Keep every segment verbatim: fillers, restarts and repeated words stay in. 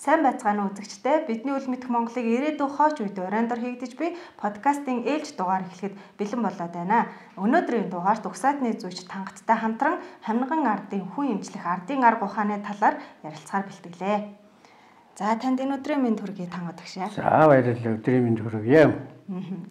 Сайн байцгаана уу үзэгчдээ. Бидний үл мэдэх Монголыг ирээдүйн хооч үед оройндор хийгдэж буй подкастын ээлж дугаар эхлэхэд бэлэн болоод байна. Өнөөдрийн дугаарт угсаатны зүйч Тангаттай хамтран Хамниган ардын хүн эмчлэх ардын арга ухааны талаар ярилцахаар бэлтгэлээ. За танд энэ өдрийн мэнд хүргэе Тангат агшаа. За баярлалаа, өдрийн мэнд хүргэе.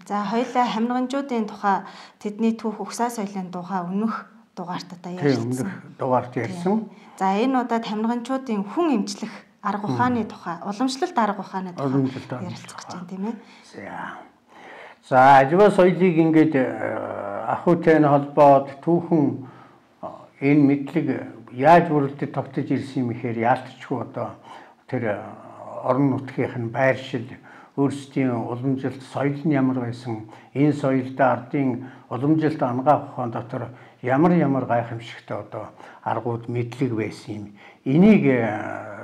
За хоёулаа хамниганчуудын тухай тэдний түүх угсаа соёлын тухай өнөх дугаарт одоо ярьсан. Дугаарт ярьсан. За энэ удаад хамниганчуудын хүн эмчлэх арга ухааны тухай, уламжлалт арга ухааны тухай ярилцах гэж байна тийм ээ. За. За ажил соёлыг ингээд ахуйтай холбоод түүхэн энэ мэдлэг яаж бүрэлдэхүүн тогтож ирсэн юм ихээр яалтчгүй одоо тэр орон нутгийнх нь байршил өөрсдийн уламжлалт соёл нь ямар байсан, энэ соёлд ардын уламжлалт ангаах ухаан дотор ямар ямар гайхамшигтай одоо аргууд мэдлэг байсан юм. Энийг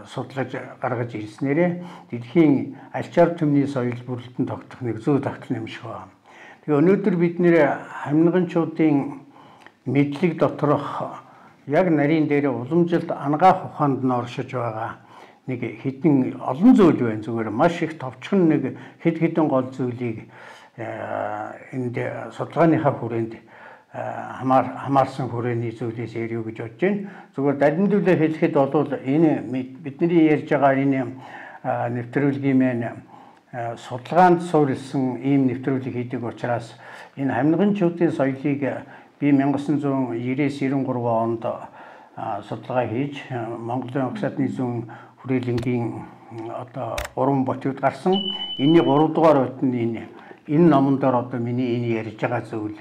судлаж гаргаж ирснээрээ дэлхийн альчаар төмний соёл бүрэлдэхүүн тогтох нэг зүй тогтол юм шиг байна. Тэгээ өнөөдөр бид нэр хамниганчуудын мэдлэг доторх яг нарийн дээр уламжлалт ангаах ухаанд нь оршиж байгаа нэг хэдэн олон зүйл байна. Зүгээр маш их товчхон нэг хэд хэдэн гол зүйлийг энд судалгааныхаа хүрээнд хамаар хамаарсан хүрээний зүйлээс ярив гэж бодож байна. Зүгээр далимдуулаа хэлэхэд бол энэ бидний ярьж байгаа энэ нэвтрүүлгийн маань судалгаанд суурилсан ийм нэвтрүүлэг хийдэг учраас энэ хамниганчуудын соёлыг би мянга девятьсот девяносто три онд судалгаа хийж Монголын угсаатны зүүн хүрээлэнгийн одоо гурван ботууд гарсан. Энэний гурав дугаар бот нь энэ энэ номон дээр одоо миний энэ ярьж байгаа зүйл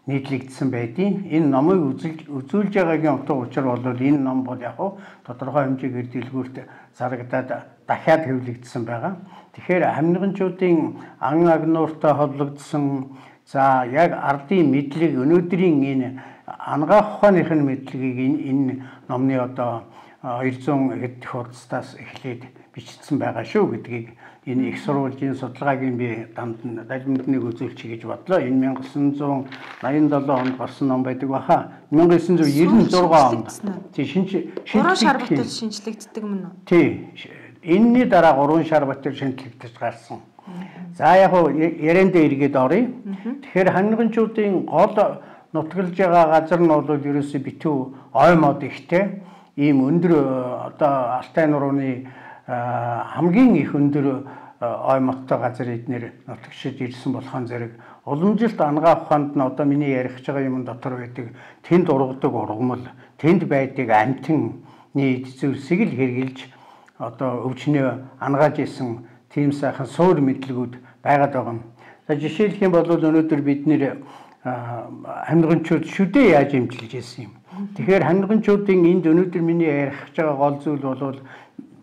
нийтлэгдсэн байдیں۔ Энэ номыг үзүүлж үзүүлж байгаагийн утга учир бол энэ ном бол яг тодорхой хэмжээгээр дэлгүүрт зарагдаад дахиад хэвлэгдсэн байгаа. Тэгэхээр хамниганчуудын ан агнууртай холбогдсон за яг ардын мэдлэг өнөөдрийн энэ ангаах ухааныхын мэдлэгийг энэ номны одоо двести хэд хуудасаас эхлээд бичсэн байгаа шүү гэдгийг энэ их сурвалжийн судалгаагийн би дамд далимдныг үзүүлчих гэж бодлоо. Энэ мянга девятьсот восемьдесят seven онд гарсан ном байдаг баха. мянга девятьсот девяносто шесть онд. Тий шинж гурван шар батал шинжлэгддэг юм уу? Тий. Энэний дараа гурван шар батал шинжлэгдэж гарсан. За яг ярианд эргээд оръё. Тэгэхээр хамниганчуудын гол нутгалж байгаа газар нь бол ерөөсөө битүү ой мод ихтэй. Ийм өндөр одоо Алтай нурууны хамгийн их өндөр ой модтой газар эднэр нутагшиж ирсэн болохон зэрэг уламжлалт ангаах ухаанд нь одоо миний ярих гэж байгаа юм дотор байдаг тэнд ургадаг ургамал, тэнд байдаг амтны зүйлсийг л хэрглэж одоо өвчнөө ангааж исэн тийм сайхан суур мэдлэгүүд байгаад байгаа юм. За жишээлх юм бол өнөөдөр бид нэр хамниганчууд шүдээ яаж эмчилж ирсэн юм. Тэгэхээр хамниганчуудын энд өнөөдөр миний ярих гэж байгаа гол зүйл бол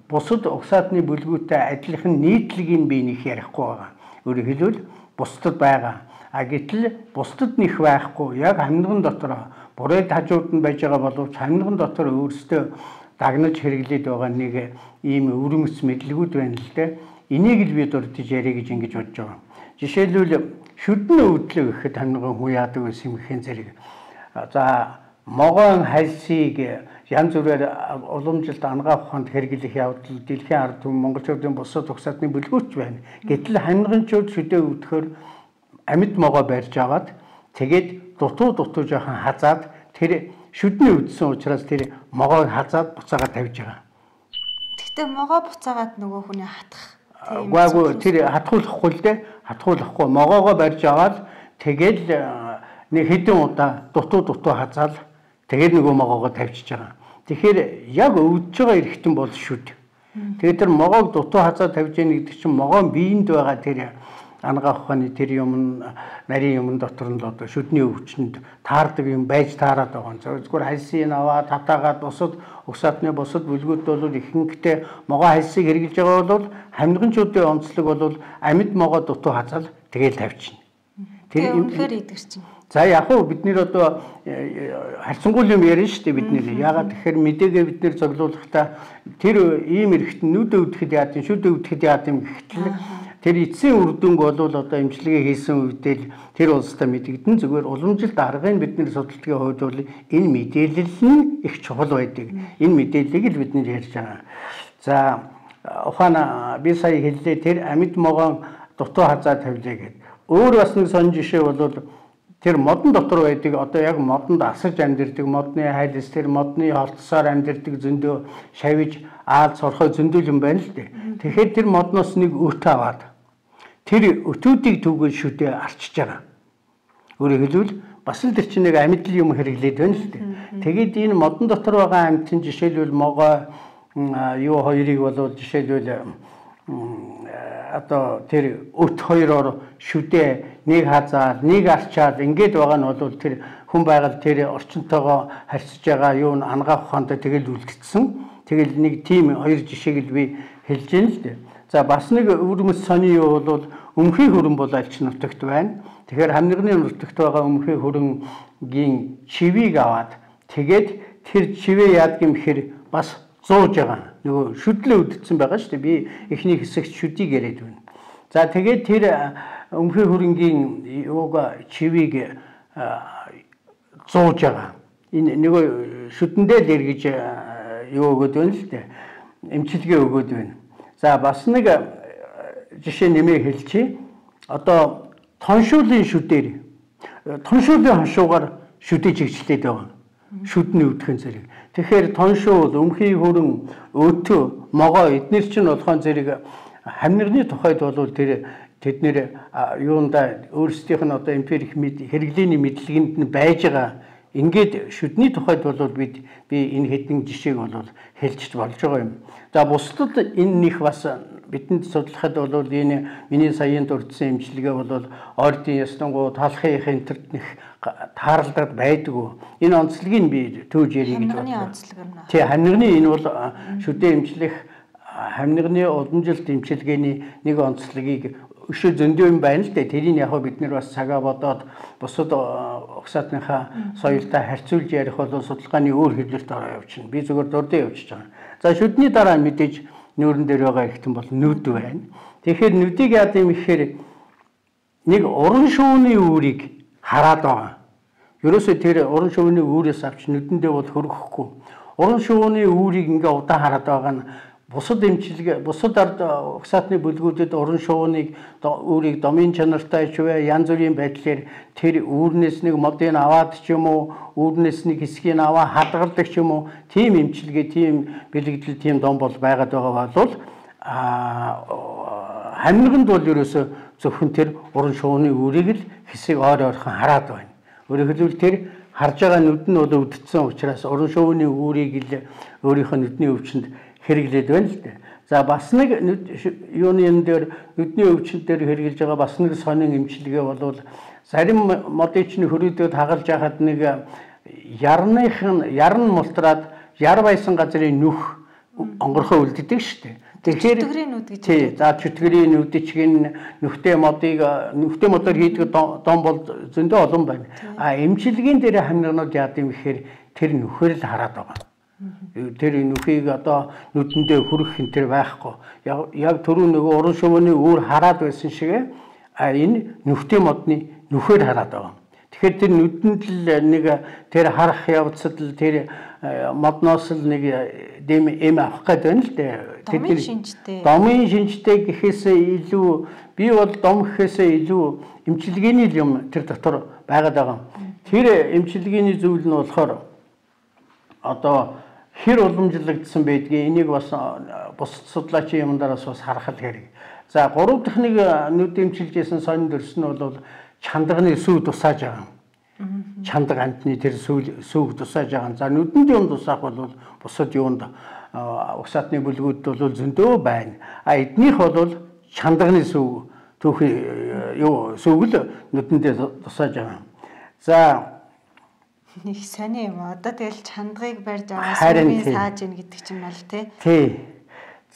бусад угсаатны бүлгүүтэй адилхан нийтлэгийг би нэг ярихгүй байгаа. Өөрөөр хэлбэл бусдад байгаа. А гэтэл бусдад нэх байхгүй. Яг хамниган дотор бурайд хажууд нь байж байгаа боловч хамниган дотор өөрсдөө дагнаж хэрэглээд байгаа нэг ийм өвөрмөц мэдлэгүүд байна л дээ. Энийг л би дурдж яриа гэж ингэж бодож байгаа. Жишээлбэл шүдэн өвдлөө гэхэд хамниган хүн яадаг байсан юм гэхэн зэрэг. За могоон хальсыг янз бүрээр уламжлалт ангаах ухаанд хэрэглэх явдал дэлхийн ард түмэн монголчуудын бусад угсаатны бүлгүүрч байна. Гэтэл хамниганчууд шүдээ өвдөхөөр амьд могоо барьж аваад тэгээд дутуу дутуу жоохон хазаад тэр шүдний өвдсөн учраас тэр могоог хазаад буцаагаад тавьж байгаа. Гэхдээ могоо буцаагаад нөгөө хүний хатах. Гүйгүй тэр хатгуулахгүй л дээ. Хатгуулахгүй могоогоо барьж аваад тэгээд нэг хэдэн удаа дутуу дутуу хазаал тэгээд нөгөө могоогоо тавьчихж байгаа. Тэгэхээр яг өвдөж байгаа эргэтэн бол шүд. Тэгээд тэр могоог дутуу хазаа тавьж яах гэдэг чинь могоон биеинд байгаа тэр ангаах ухааны тэр юм нарийн юм дотор нь л одоо шүдний өвчнөд таардаг юм байж таарад байгаа. Зөвхөн хальсыг аваад татаагаад бусад угсаатны бусад бүлгүүд бол ихэнхдээ могоо хальсыг хэрэглэж байгаа бол хамниганчуудын онцлог бол амьд могоо дутуу хазаал тэгээд тавьчихна. Тэр үнэхээр идэгч чинь. За яг уу бид нэр одоо харьцангуй юм ярина шүү дээ бид нэр. Ягаад тэгэхээр мэдээгээ бид нэр цоглуулахдаа тэр ийм эргэтэн нүд өвдөхэд яад юм, шүд өвдөхэд яад юм гэхтэл тэр эцсийн үр дүнг бол одоо эмчилгээ хийсэн үедээ тэр улстай мэдэгдэн зүгээр уламжлалт аргыг бид нэр судалдгийн хувьд бол энэ мэдээлэл нь их чухал байдаг. Энэ мэдээллийг л бид нэр ярьж байгаа. За ухаана би сая хэллээ тэр амьд могоон дутуу хазаа тавилаа гэд. Өөр бас нэг сонь жишээ бол тэр модон дотор байдаг одоо яг модонд асаж амьдэрдэг модны хайлс тэр модны холтсоор амьдэрдэг зөндөө шавиж аал сорхой зөндөл юм байна л дээ. Тэгэхээр тэр модноос нэг өт аваад тэр өтүүдийг түгэл шүдээ арчиж байгаа. Өөрөөр хэлбэл бас л тэр чинь нэг амьдл юм хэрэглээд байна л дээ. Тэгээд энэ модон дотор байгаа амьтын жишээлбэл могой юу хоёрыг бол жишээлбэл одоо тэр өт хоёроор шүдээ нэг хазаад нэг арчаад ингээд байгаа нь бол тэр хүн байгаль тэр орчинтойгоо харьцаж байгаа юу н ангаах ухаантай тэгэл үлдгэсэн. Тэгэл нэг тийм хоёр жишээг л би хэлж байна л дээ. За бас нэг өвөрмөс сони юу бол өмхий хөрөн бол альч нутагт байна. Тэгэхээр хамнигны нутагт байгаа өмхий хөрөнгийн чивийг аваад тэгээд тэр чивээ яадаг юм хэр бас зууж байгаа. Нөгөө шүдлээ үдцсэн байгаа шүү дээ. Би эхний хэсэгт шүдийг яриад байна. За тэгээд тэр өмхий хөрөнгийн юуг чивийг зууж байгаа. Энэ нөгөө шүдэндээ л эргэж юу өгöd байна л дээ. Эмчилгээ өгöd байна. За бас нэг жишээ нэмээ хэлчихье. Одоо тоншуулын шүдээр тоншуулын хоншуугаар шүдээ чигчлээд байгаа. Шүдний өвдгөн зэрэг. Тэгэхээр тоншуул, өмхий хөрөн, өтөө, могоо эднэр чинь болохон зэрэг хамнирны тухайд бол тэр тэднэр юунда өөрсдийнх нь одоо эмпирик хэрэглээний мэдлэгэнд нь байж байгаа. Ингээд шүдний тухайд бол бид би энэ хэдэн жишээг бол хэлж болж байгаа юм. За бусдад энэ них бас бидэнд судлахад бол энэ миний саяын дурдсан эмчилгээ бол ордын ястангуу талхын интернет них тааралдаад байдгүй. Энэ онцлогийг би төөж ярих гэж бодлоо. Тий, хамнигны энэ бол шүдээ эмчлэх хамнигны уламжилт эмчилгээний нэг онцлогийг өшөө зөндөө юм байна л дээ. Тэрийг яг бид нар бас цагаа бодоод бусад угсаатныхаа соёлтой харьцуулж ярих бол судалгааны өөр хэвлэлд ороо явчихна. Би зөвхөн дурдсан явчихж байгаа. За шүдний дараа мэдээж нүүрэн дээр байгаа ихтэн бол нүд байна. Тэгэхээр нүдийг яа гэм ихээр нэг уран шууны үүрийг хараад байгаа. Ерөөсөө тэр уран шууны үүрээс авч нүдэндээ бол хөрөхгүй. Уран шууны үүрийг ингээ удаа хараад байгаа нь бусад эмчилгээ бусад ард угсаатны бүлгүүдэд уран шууныг үүрийг домын чанартай ч вэ янз бүрийн байдлаар тэр үүрнээс нэг модыг аваад ч юм уу үүрнээс нэг хэсгийг аваа хадгалдаг ч юм уу тийм эмчилгээ тийм бэлэгдэл тийм дом бол байгаад байгаа бол а хамниганд бол ерөөсө зөвхөн тэр уран шууны үүрийг л хэсэг ойр ойрхон хараад байна. Өөрөөр хэлбэл тэр харж байгаа нүд нь бол өвдсөн учраас уран шууны үүрийг л өөрийнхөө нүдний өвчнөд хэрэглээд байна л дээ. За бас нэг юуны энэ дээр нүдний өвчин дээр хэрэгжилж байгаа бас нэг сонин эмчилгээ бол зарим модичны хөрөөдөд хагалж яхад нэг ярных нь ярн мултраад яр байсан газрын нүх онгорхоо үлддэг шүү дээ. Тэгэхээр чөтгөрийн нүд гэж. Тий, за чөтгөрийн нүдчгийн нүхтэй модыг нүхтэй модоор хийдэг дом бол зөндөө олон байна. А эмчилгээний дээр хамнигнууд яад юм гэхээр тэр нүхээр л хараад байгаа. Тэр нүхийг одоо нүдэндээ хүрэх хин тэр байхгүй. Яг түрүү нөгөө уран шувууны үүр хараад байсан шиг а энэ нүхтэй модны нүхээр хараад байгаа. Тэгэхээр тэр нүдэнд л нэг тэр харах явцад л тэр модноос л нэг дэм эм авах гэдэг байна л дээ. Домын шинжтэй. Домын шинжтэй гэхээсээ илүү би бол дом гэхээсээ илүү эмчилгээний юм тэр дотор байгаад байгаа. Тэр эмчилгээний зүйл нь болохоор одоо хэр уламжлагдсан байдгийг энийг бас бусад судлаачийн юмдараас бас харах хэрэг. За гурав дахь нэг нүд эмчилжсэн сонин дөрс нь бол чандагны сүв тусааж байгаа. Чандаг амтны тэр сүв тусааж байгаа. За нүдэнд юм тусаах бол бусад юунд угсаатны бүлгүүд бол зөндөө байна. А эднийх бол чандагны сүв түүхий юу сүвгэл нүдэндээ тусааж байгаа. За нэг сони юм. Одоо тэгэл чандгыг барьж аваа сүмийн сааж ийн гэдэг чинь бол тий. Тий.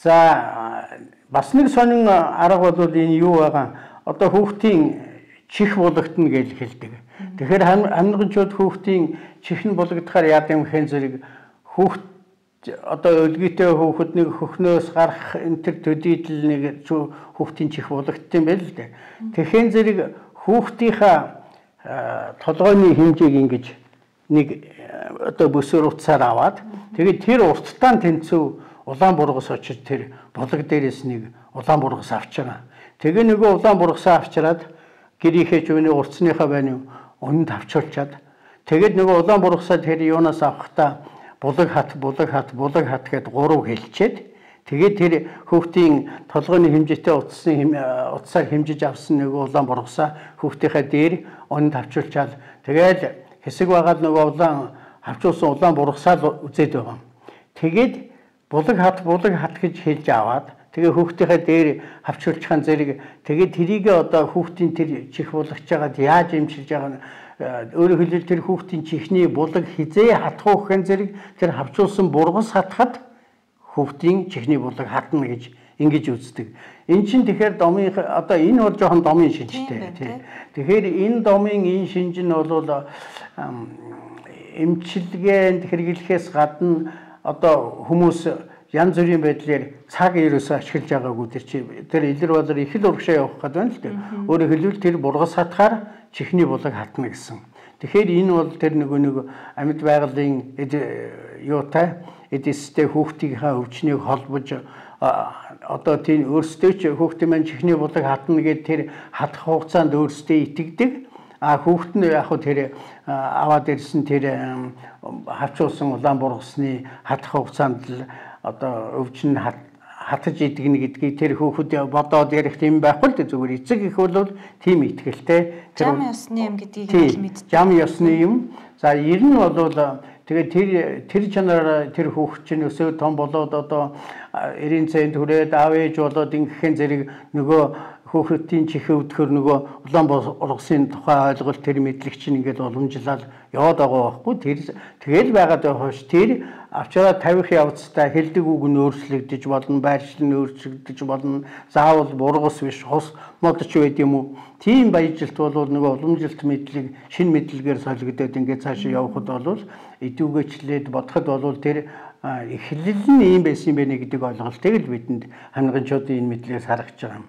За бас нэг сонин арга бол энэ юу байгаа. Одоо хүүхдийн чих болгохтно гэж хэлдэг. Тэгэхээр хамнигчууд хүүхдийн чих нь болгодохоор яад юм хэн зэрэг хүүхд одоо өлгийтэй хүүхэд нэг хөхнөөс гарах энэ төр төдийдл нэг хүүхдийн чих болгохтын байл л дээ. Тэгэхээр зэрэг хүүхдийнхаа толгойн хэмжээг ингэж нэг одоо бүсээр утсаар аваад тэгээд тэр урттаа тэнцүү улаан бургас очиж тэр булаг дээрээс нэг улаан бургас авчираа. Тэгээ нөгөө улаан бургасаа авчираад гэрийнхээ жууны урцныхаа байны өнөнд авчирчаад тэгээд нөгөө улаан бургасаа тэр юунаас авахдаа булаг хат булаг хат булаг хат гэд гурав хэлчихэд тэгээд тэр хүүхдийн толгойн хэмжээтэй утасны утасаар хэмжиж авсан нөгөө улаан бургасаа хүүхдийнхээ дээр өнөнд авчирчаад тэгээд хэсэг байгаад нөгөө улаан авчуулсан улаан бургасаа үзээд байгаа. Тэгээд булаг хат булаг хат гэж хэлж аваад тэгээ хүүхдийнхээ дээр авчирчхан зэрэг тэгээд тэрийг одоо хүүхдийн тэр чих булгаж байгаад яаж имчилж байгаа нь өөрөөр хэлбэл тэр хүүхдийн чихний булаг хизээ хатах гэх зэрэг тэр авчуулсан бургас хатахад хүүхдийн чихний булаг хатна гэж ингэж үздэг. Эн чинь тэгэхээр домын одоо энэ бол жоохон домын шинжтэй тий. Тэгэхээр энэ домын энэ шинж нь бол эмчилгээнд хэрэглэхээс гадна одоо хүмүүс янз бүрийн байдлаар цаг ерөөсөө ашиглаж байгаагүй тэр чи тэр илэр болор их л урагшаа явах гэдэг байна л дээ. Өөрөөр хэлбэл тэр бургас хатахаар чихний булаг хатна гэсэн. Тэгэхээр энэ бол тэр нөгөө нэг амьд байгалийн юутай эдистэй хүүхдийнхээ өвчнийг холбож одоо тийм өөрсдөө ч хүүхдийн маань чихний булаг хатна гэдэг тэр хатах хугацаанд өөрсдөө итгэдэг. А хүүхэд нь яг хөө тэр аваад ирсэн тэр хавчуулсан улаан бургасны хатах хугацаанд л одоо өвчин хатаж идэгнэ гэдгийг тэр хүүхэд бодоод ярих юм байхгүй л дээ зүгээр эцэг их бол тийм итгэлтэй тэр жам ёсны юм гэдгийг л мэддэг. Жам ёсны юм. За ер нь бол тэгээд тэр тэр чанараар тэр хүүхэд чинь өсөө том болоод одоо эрийн цайнд хүрээд аав ээж болоод ингэхэн зэрэг нөгөө хүүхдийн чихээ өвдөхөр нөгөө улаан бургасын тухай ойлголт тэр мэдлэг чинь ингээд уламжлал яваад байгаа байхгүй тэр тэгэл байгаад байгаа хөөш тэр авчраа тавих явцдаа хэлдэг үг нь өөрчлөгдөж болно байршил нь өөрчлөгдөж болно заавал бургас биш хос модч байд юм уу тийм баяжилт бол нөгөө уламжилт мэдлэг шин мэдлэгээр солигдоод ингээд цаашаа явхад бол идэвхжлээд бодоход бол тэр эхлэл нь ийм байсан юм байна гэдэг ойлголтыг л бидэнд хангамжуудын энэ мэдлэгээс харагч байгаа юм.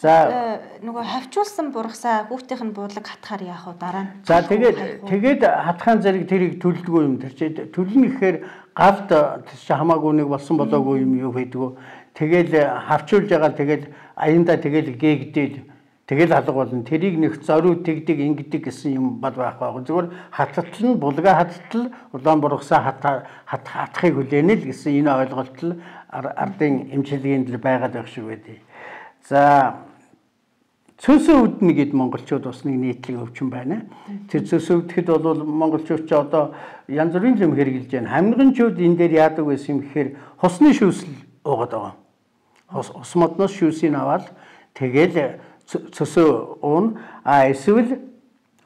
За нөгөө хавчуулсан бургасаа хүүхдийнх нь буудлаг хатахаар яах вэ дараа нь? За тэгээд тэгээд хатахын зэрэг тэрийг төлдөггүй юм тэр чи төлнө гэхээр галд чи хамаагүй нэг болсон болоогүй юм юу байдгүй. Тэгэл хавчуулж байгаа тэгэл аяндаа тэгэл гээгдээд тэгэл алга болно. Тэрийг нэг зориу тэгдэг ингэдэг гэсэн юм бод байх байхгүй. Зүгээр хаталтал нь булгаа хаталтал улаан бургасаа хатах хатахыг хүлээнэ л гэсэн энэ ойлголт л ардын эмчилгээнд л байгаад байх шиг байдیں۔ За цөсөө өвднө гэд монголчууд бас нэг нийтлэг өвчин байна. Тэр цөсөө өвдөхэд бол монголчууд ч одоо янз бүрийн юм хэрэгжилж байна. Хамнигчууд энэ дээр яадаг байсан юм гэхээр хусны шүүсэл уугаад байгаа. Хос ус модноос шүүсийг аваад тэгэл цөсөө уун а эсвэл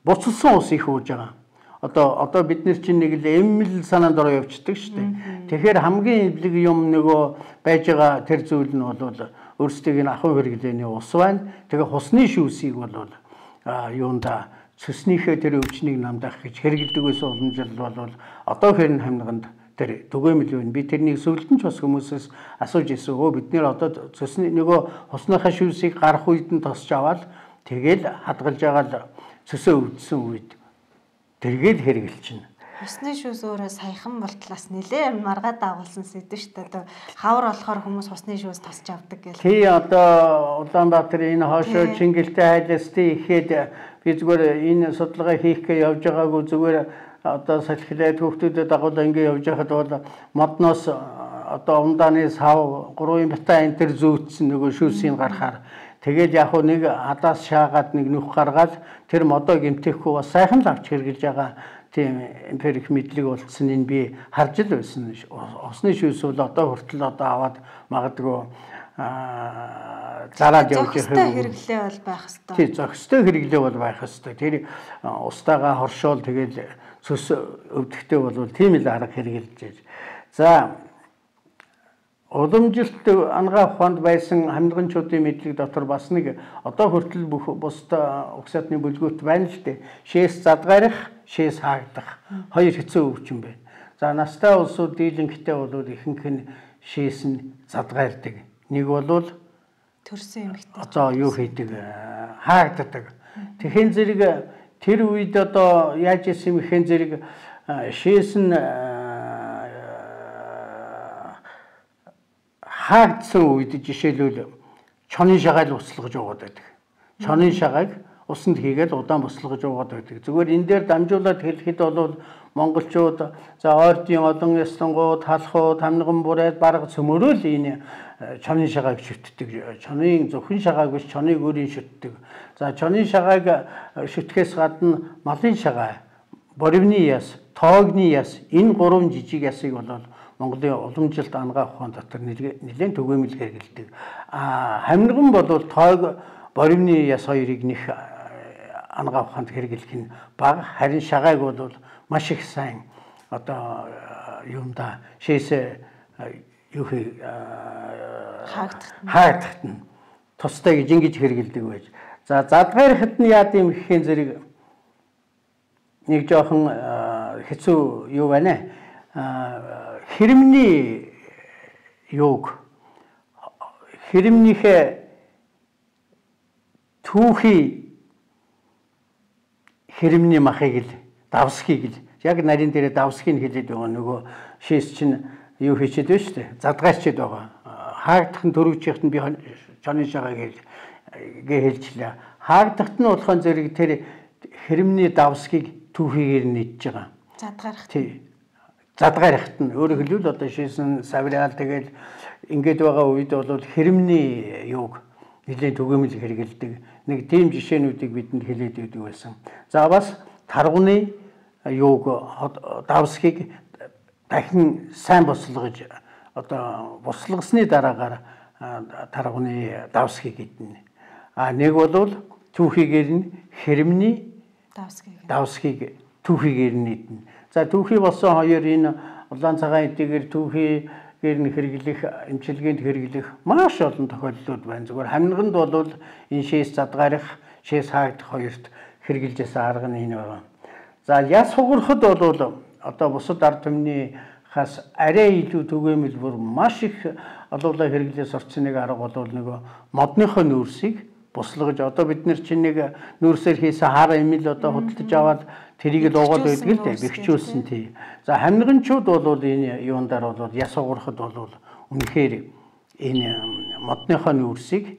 буцалсан ус их ууж байгаа. Одоо одоо бид нар чинь нэг л эмэл санаанд ороо явчихдаг шүү дээ. Тэгэхээр хамгийн эвлэг юм нөгөө байж байгаа тэр зүйл нь бол өөрсдийг нь ахуй хэрэглээний ус байна. Тэгээ хусны шүүсийг бол юунда цэснийхээ тэр өвчнийг намдах гэж хэрэгэлдэг байсан уламжлал бол одоо хэрн хамнаганд тэр түгээмэл байна. Би тэрнийг сүүлдэн ч бас хүмүүсээс асууж ирсэн. Өө бид нэр одоо цэсний нөгөө хусныхаа шүүсийг гарах үед нь тосч аваад тэгэл хадгалж байгаа л цэсөө өвдсөн үед тэргээд хэрэгэлчихнэ. Хусны шүүс өөрөө саяхан болтлаас нэлээ маргаад дагуулсан сэдв шүү дээ. Хавар болохоор хүмүүс хусны шүүс тасч авдаг гэл. Тий одоо Улаанбаатар энэ хоошоо Чингэлтэй хайлстай ихэд би зүгээр энэ судалгаа хийхгээ явж байгаагүй зүгээр одоо салхилаад хүүхдүүдэд дагуулаа ингэ явж байхад бол модноос одоо умдааны сав гурван бата энэ төр зүүцсэн нөгөө шүүсийг гарахаар тэгээд яг нэг хадаас шаагаад нэг нүх гаргаад тэр модоо гэмтэхгүй бас сайхан л авч хэрглэж байгаа тийм эмпирик мэдлэг болцсон энэ би харж л байсан. Осны шүүс бол одоо хүртэл одоо аваад магадгүй зараад явж байгаа хэрэглээ бол байх хэвээр. Тий, зохистой хэрэглээ бол байх хэвээр. Тэр устаага хоршоол тэгээд цөс өвдөхтэй бол тийм л арга хэрэгжилж байж. За уламжилт ангаа ухаанд байсан хамдганчуудын мэдлэг дотор бас нэг одоо хүртэл бүх бусдаа угсаатны бүлгүүт байна л дээ. Шээс задгаарих, шээс хаагдах хоёр хэцүү өвчин байна. За настай улсууд дийлэнхтэй бол ихэнх нь шээс нь задгаардаг. Нэг бол төрсөн эмэгтэй. Одоо юу хийдэг? Хаагддаг. Тэхэн зэрэг тэр үед одоо яаж исэн мэхэн зэрэг шээс нь хаагдсан үед жишээлбэл чонын шагаал услгаж яваад байдаг. Чонын шагааг усанд хийгээд удаан буслгаж яваад байдаг. Зүгээр энэ дээр дамжуулаад хэлэхэд бол монголчууд за ойрдын олон яслангууд, халахууд, хамниган бүрээд бараг цөмөрөөл энэ чонын шагааг шүтдэг. Чонын зөвхөн шагааг биш чоныг өөрийн шүтдэг. За чонын шагааг шүтгэхээс гадна малын шагаа, боривны яс, тоогны яс энэ гурван жижиг ясыг бол Монголын уламжилт ангаа ухаан дотор нэлээд түгээмэл хэрэгэлдэг. А хамниган бол тоог, боривны яс хоёрыг нэг ангаа ухаанд хэрэглэх нь бага, харин шагааг бол маш их сайн одоо юунда шээсээ юу хий хаагдахт нь тустай гэж ингэж хэрэгэлдэг байж. За задгаархад нь яа гэм гэхийн зэрэг нэг жоохон хэцүү юу байна. Хэрэмний юуг хэрэмнийхээ түүхий хэрэмний махыг л давсхийг л яг нарийн дээрээ давсхийг хэлээд байгаа нөгөө шээс чинь юу хийчихэд байна шүү дээ. Задгаарчихэд байгаа. Хаагдах нь төрөвчийнхэд нь би чонын шагааг гээ хэлжлээ. Хаагдахт нь болохон зэрэг тэр хэрэмний давсхийг түүхийгээр нийтж байгаа. Задгаархт. Тий. Задгаархт нь өөрөөр хэлбэл одоо шээсэн савраал тэгэл ингээд байгаа үед бол хэрэмний юуг нэлээд түгээмэл хэрэгэлдэг. Нэг тийм жишээнүүдийг бидэнд хэлээд өгдөг байсан. За бас таргуны юуг давсхийг дахин сайн бослогож одоо бослогосны дараагаар таргуны давсхийг идэнэ. А нэг бол түүхийгээр нь хэрэмний давсхийг давсхийг түүхийгээр нь идэнэ. За түүхий болсон хоёр энэ улаан цагаан эдгээр түүхийгээр нь хэрэглэх, эмчилгээнд хэрэглэх маш олон тохиолдлууд байна. Зүгээр хамниганд бол энэ шээс задгаарх, шээс хаагдах хоёрт хэрэгжилжсэн арга нь энэ байна. За яс хугарахад бол одоо бусад ард түмнийхээс арай илүү түгээмэл бүр маш их олуулаа хэрэглээс орцсон нэг арга бол нөгөө модныхоо нүүрсийг буслгаж одоо бид нар чинь нэг нүүрсээр хийсэн хар эмэл одоо худалдаж аваад тэрийг л уугаад байдаг л дээ бэхжүүлсэн тий. За хамниганчууд бол энэ юундар бол яс хугарахад бол үнэхээр энэ модныхоо нүүрсийг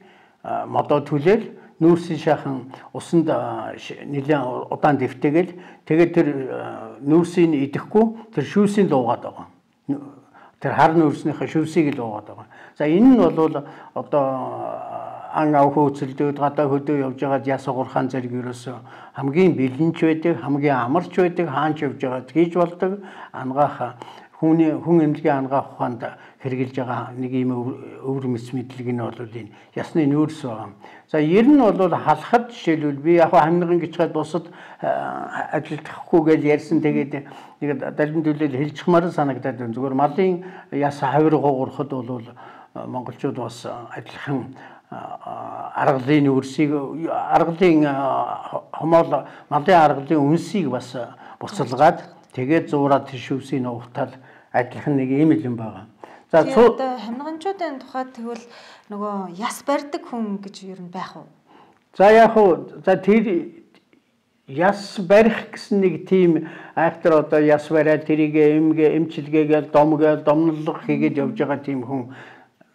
модоо түлээл нүүрсийн шахан усанд нэлээд удаан дэвтэгээл тэгээд тэр нүүрсийг идэхгүй тэр шүүсийг луугаад байгаа. Тэр хар нүүрснийхээ шүүсийг л уугаад байгаа. За энэ нь бол одоо ан ав хөөцөлдөөд гадаа хөдөө явж байгаад яс хугархаан зэрэг ерөөсөө хамгийн бэлэнч байдаг, хамгийн амарч байдаг, хаанч явж байгаад хийж болдог ангаах хүний хүн эмнэлгийн ангаах ухаанд хэрэгжилж байгаа нэг юм өвөр мэс мэдлэг нь бол энэ ясны нүүрс байгаа. За ер нь бол халахад жишээлбэл би яг хамниган гिचгээд бусад ажилдахгүй гэж ярьсан тэгээд нэг далин төлөөл хэлчихмаар санагдаад байна. Зүгээр малын яс хавир гуурхад бол монголчууд бас адилхан аргалын нүүрсийг аргалын хомоол малын аргалын үнсийг бас буцалгаад тэгээд зуураад шивсийг нуухтал адилхан нэг ийм юм байгаа. За одоо хамниганчуудын тухайд тэгвэл нөгөө яс барьдаг хүн гэж ер нь байх уу? За яг уу за тэр яс барих гэсэн нэг тийм актер одоо яс бариад тэрийг эмгээ эмчилгээгээл домгээл домнолго хийгээд явж байгаа тийм хүн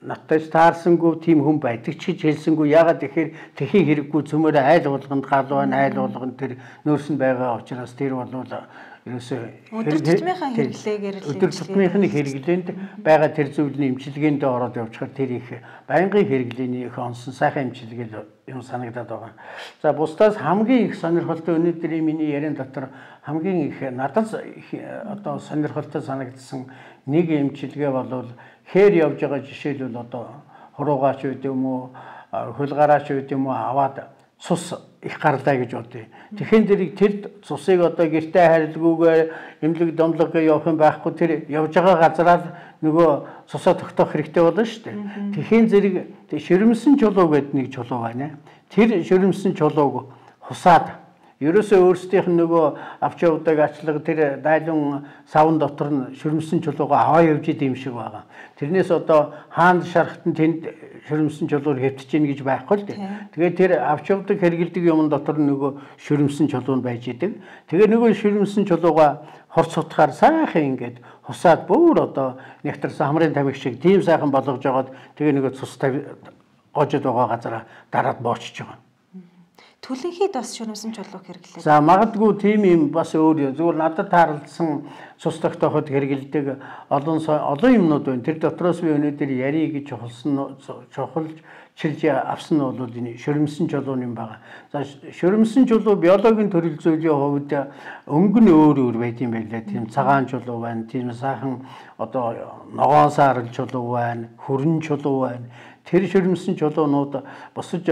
надтай таарсангүй тийм хүн байдаг ч гэж хэлсэнгүй. Ягаад тэгэхээр тэхийн хэрэггүй цөмөр айл болгонд гал байна, айл болгонд тэр нөөс нь байгаа учраас тэр бол ерөөсөө өдөр тутмынхаа хэрэглээгээр л өдөр тутмынхны хэрэглээнд байгаа тэр зүйлний эмчилгээнд ороод явчихаар тэр их байнгын хэрэглээний их онсон сайхан эмчилгээ юм санагдаад байгаа. За бусдаас хамгийн их сонирхолтой өнөөдрийн миний яриан дотор хамгийн их надад одоо сонирхолтой санагдсан нэг эмчилгээ бол хээр явж байгаа жишээлбэл одоо хуруугаач үед юм уу хулгаараач үед юм уу аваад цус их гарлаа гэж бодъё. Тэгэхээр тэрийг тэр цусыг одоо гэртээ харилгүйгээр эмнэлэг домлого явах юм байхгүй тэр явж байгаа газараа нөгөө цусаа тогтоох хэрэгтэй болно шүү дээ. Тэгэхээр зэрэг ширэмсэн чулуу гэдэг нэг чулуу байна. Тэр ширэмсэн чулууг хусаад Ерөөсөө өөрсдийнх нь нөгөө авч явдаг ачлага тэр дайлан савн дотор нь шүрмсэн чулуугаа аваа явж идэм шиг байгаа. Тэрнээс одоо хаанд шархт нь тэнд шүрмсэн чулуур хэвтэж гин гэж байхгүй л дээ. Тэгээд тэр авч явдаг хэрэгэлдэг юм дотор нь нөгөө шүрмсэн чулуу нь байж идэг. Тэгээд нөгөө шүрмсэн чулуугаа хорц сутгаар сайхан ингээд хусаад бүр одоо нэгтэрсэн хамрын тамхи шиг тийм сайхан болгож жагаад тэгээ нөгөө цус гожод байгаа газараа дараад боочж байгаа. Түлэнхийд бас шүрмсэн чулуу хэрэглээ. За магадгүй тийм юм бас өөр зүгээр надад таарлсан цус тогтооход хэрэгэлдэг олон олон юмнууд байна. Тэр дотроос би өнөөдөр ярий гэж чухалсан чухалж чилж авсан нь бол энэ шүрмсэн чулуу юм байгаа. За шүрмсэн чулуу биологийн төрөл зүйлийн хувьд өнгө нь өөр өөр байт юм байлаа. Тийм цагаан чулуу байна, тийм сайхан одоо ногоон саарл чулуу байна, хүрэн чулуу байна. Тэр шүрмсэн чулуунууд босож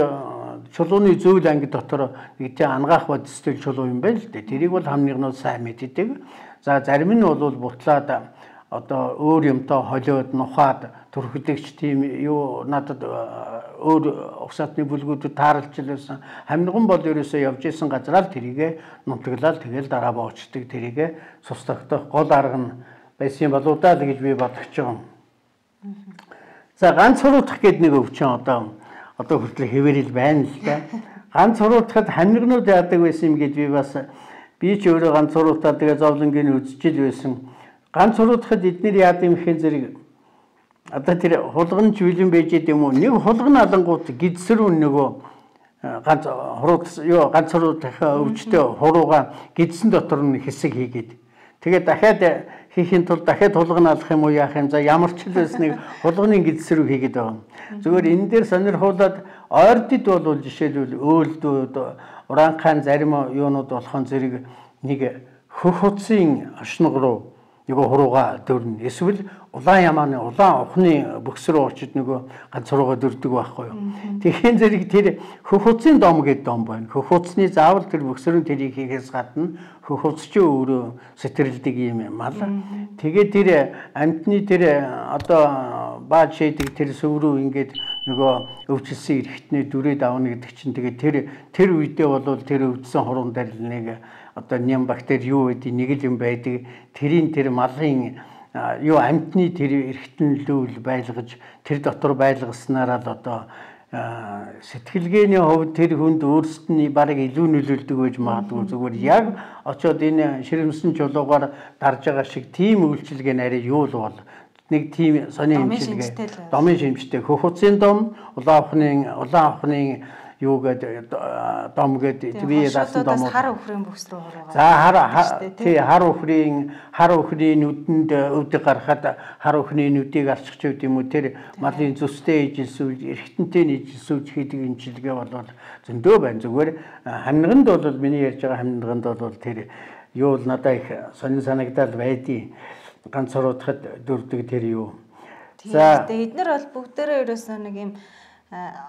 чулууны зүйл анги дотор нэг тийм ангаах бодистой чулуу юм байна л дээ. Тэрийг бол хамнигнууд сайн мэддэг. За зарим нь бол бутлаад одоо өөр юмтай холиод нухаад төрхөдөгч тийм юу надад өөр угсаатны бүлгүүдэд таарлжлээсэн. Хамниган бол ерөөсөө явж исэн газараа л тэрийгэ нутаглал тэгэл дараа боочдөг. Тэрийгэ цус тогтоох гол арга нь байсан болоо даа гэж би бодож байгаа. За ганц хуруутах гэдэг нэг өвчин одоо одоо хүртэл хэвээрэл байна л да. Ганц хуруутахад хамнигнууд яадаг байсан юм гэж би бас би ч өөрөө ганц хуруутаад тэгээ зовлонгийн үзчихэл байсан. Ганц хуруутахад эдгээр яадаг юм хээн зэрэг одоо тэр хулган чүлэн байж идэм үү? Нэг хулган алангууд гидсрүү нөгөө ганц хуруут ёо ганц хуруутах өвчтөе хурууга гидсэн дотор нь хэсэг хийгээд тэгээд дахиад хийхин тулд дахиад хулган алах юм уу яах юм за ямар ч л байсныг хулганы гидсрүү хийгээд байгаа. Зүгээр энэ дээр сонирхуулаад ойрдод бол жишээлбэл өөлдүүд уранхайн зарим юунууд болохон зэрэг нэг хөх хуцсын ашнаг руу нэг хурууга дөрнө. Эсвэл улаан ямааны улаан ухны бөкс рүү очиж нөгөө ганц хурууга дөрдөг байхгүй юу. Тэгэхээр зэрэг тэр хөх хуцсын дом гэдэг дом байна. Хөх хуцсны заавал тэр бөкс рүү тэрийг хийхээс гадна хөх хуц ч өөрөө сэтрэлдэг юм мал. Тэгээд тэр амтны тэр одоо бааж шийдэг тэр сөв рүү ингээд нөгөө өвчлсөн эрхтний дүрээд авна гэдэг чинь тэгээд тэр тэр үедээ бол тэр өвдсөн хуруунд дээр нэг одоо нэм бактери юу гэдэг нэг л юм байдаг. Тэрийн тэр малын юу амтны тэр эргэтнэлүүл байлгаж тэр дотор байлгаснараа л одоо сэтгэлгээний хувьд тэр хүнд өөрсдний бараг илүү нөлөөлдөг байж магадгүй. Зүгээр яг очоод энэ ширэмсэн чулуугаар дарж байгаа шиг тийм үйлчилгээ нарийн юу л бол нэг тийм сони имчилгээ домын шимжтэй хөх хуцсын дом улаан ухны улаан ухны юу гэдэг дом гэдэг би яасан дом хар өхрийн бүс рүү хуруугаа. За хар тий хар өхрийн хар өхрийн нүдэнд өвдөг гарахад хар өхрийн нүдийг алчих ч үгүй юм уу тэр малын зүстэй ижилсүүл эргэтэнтэй ижилсүүл хийдэг имчилгээ бол зөндөө байна. Зүгээр хамниганд бол миний ярьж байгаа хамниганд бол тэр юу л надад их сонин санагдал байдیں۔ Ганц хуруутахад дөрдөг тэр юу. За эднэр бол бүгдээрээ ерөөсөө нэг юм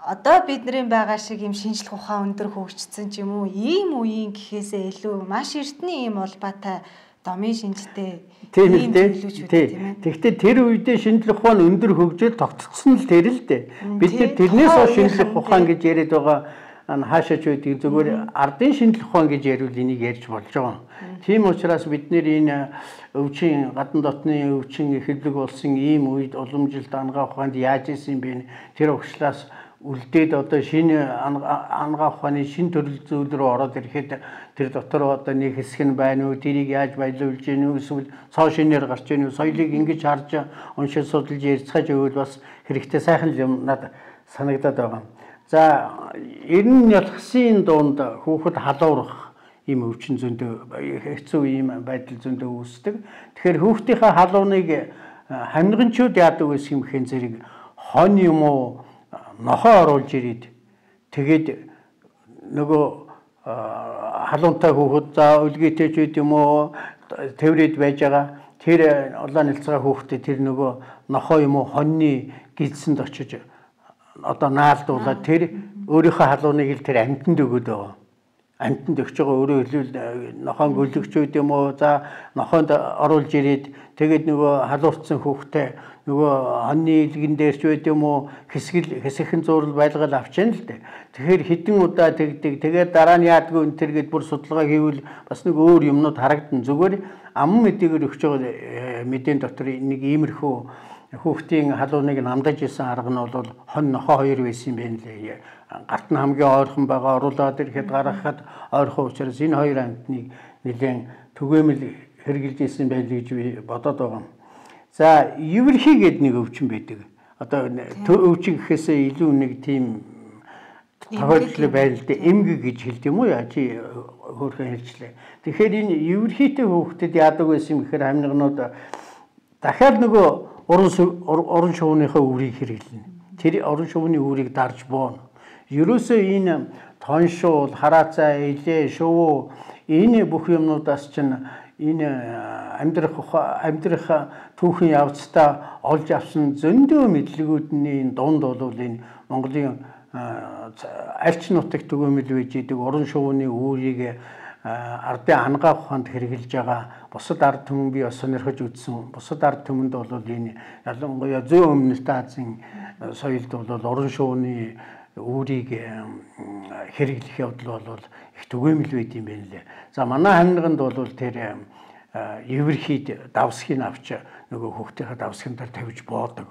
одоо бидний байгаа шиг юм шинжлэх ухаан өндөр хөгжсөн ч юм уу ийм үеийн гэхээсээ илүү маш эртний ийм улбаатай домын шинжтэй тийм үү тийм. Тэгэхдээ тэр үедээ шинжлэх ухаан өндөр хөгжөөл тогтцсон л тэр л дээ. Бид тэрнээс хойш шинжлэх ухаан гэж яриад байгаа хаашаач байдгийг зөвхөн ардын шинжлэх ухаан гэж яриул энийг ярьж болж байгаа. Тийм учраас бид нэр энэ өвчин гадна дотны өвчин эхлэг болсон ийм үед уламжилт ангаа ухаанд яаж исэн бэ? Тэр өгшлээс үлдээд одоо шинэ ангаа ухааны шинэ төрөл зүйл рүү ороод ирэхэд тэр дотор одоо нэг хэсэг нь байна уу? Тэрийг яаж баялуулж гин үү? Эсвэл цоо шинээр гарч гин үү? Соёлыг ингэж харж уншиж судалж ярьцгааж өгвөл бас хэрэгтэй сайхан юм надад санагдаад байгаа. За эрен ялхсын дунд хүүхэд халуурах ийм өвчин зөндөө хэцүү ийм байдал зөндөө үүсдэг. Тэгэхээр хүүхдийнхээ халууныг хамнигчуд яадаг гэсэн юм хэн зэрэг хон юм уу нохоо оруулж ирээд тэгээд нөгөө халуунтай хүүхэд за үлгээтэй ч үед юм уу тэврээд байж байгаа тэр улаан нэлцгээ хүүхдээ тэр нөгөө нохоо юм уу хоньны гидсэнд очиж одоо наалдуулаад тэр өөрийнхөө халууныг л тэр амьтанд өгöd байгаа. амтнд өгч байгаа өөрөө хэлвэл нохоон гөлөгч үед юм уу за нохоонд оруулж ирээд тэгээд нөгөө халуурцсан хүүхдээ нөгөө хоньны илгэн дээр ч байд юм уу хэсгэл хэсэгхэн зурал байлгал авчихна л дээ. Тэгэхээр хідэн удаа тэгдэг. Тэгээд дараа нь яадгүй энэ төр гээд бүр судалгаа хийвэл бас нэг өөр юмнууд харагдана. Зүгээр аман мэдээгээр өгч байгаа мэдээний дотор нэг иймэрхүү хүүхдийн халууныг намдаж исэн арга нь бол хон нохоо хоёр байсан юм байна лээ. Гарт нь хамгийн ойрхон байгаа оруулаад ирэхэд гаргахад ойрхон учраас энэ хоёр амьтныг нэлээд түгээмэл хэрэгжилж исэн байл гэж би бодоод байгаа. За евэрхий гэдэг нэг өвчин байдаг. Одоо өвчин гэхээсээ илүү нэг тийм тохиолдол байл л дээ. Эмгэг гэж хэлдэг юм уу яа чи хөөрхөн хэлчлээ. Тэгэхээр энэ евэрхийтэй хүүхдэд яадаг байсан юм гэхээр хамнигнууд дахиад нөгөө уран уран шувууныхаа үрийг хэрэглэнэ. Тэр уран шувууны үрийг дарж бооно. Ерөөсөө энэ тоншуул, хараацаа, илээ, шувуу энэ бүх юмнуудаас чинь энэ амьдрах амьдрах түүхэн явцдаа олж авсан зөндөө мэдлэгүүдний дунд бол энэ Монголын альч нутагт түгээмэл байж идэг уран шувууны үүрийг ардын ангаа ухаанд хэрэгжилж байгаа бусад ард түмэн би бас сонирхож үзсэн. Бусад ард түмэнд бол энэ ялангуяа зүүн өмнөд Азийн соёлд бол уран шувууны үүрийг хэрэглэх явдал бол их түгээмэл байд юм байна лээ. За манай хамниганд бол тэр евэрхийд давсхийг авч нөгөө хүүхдийнхээ давсхин дээр тавьж боодог.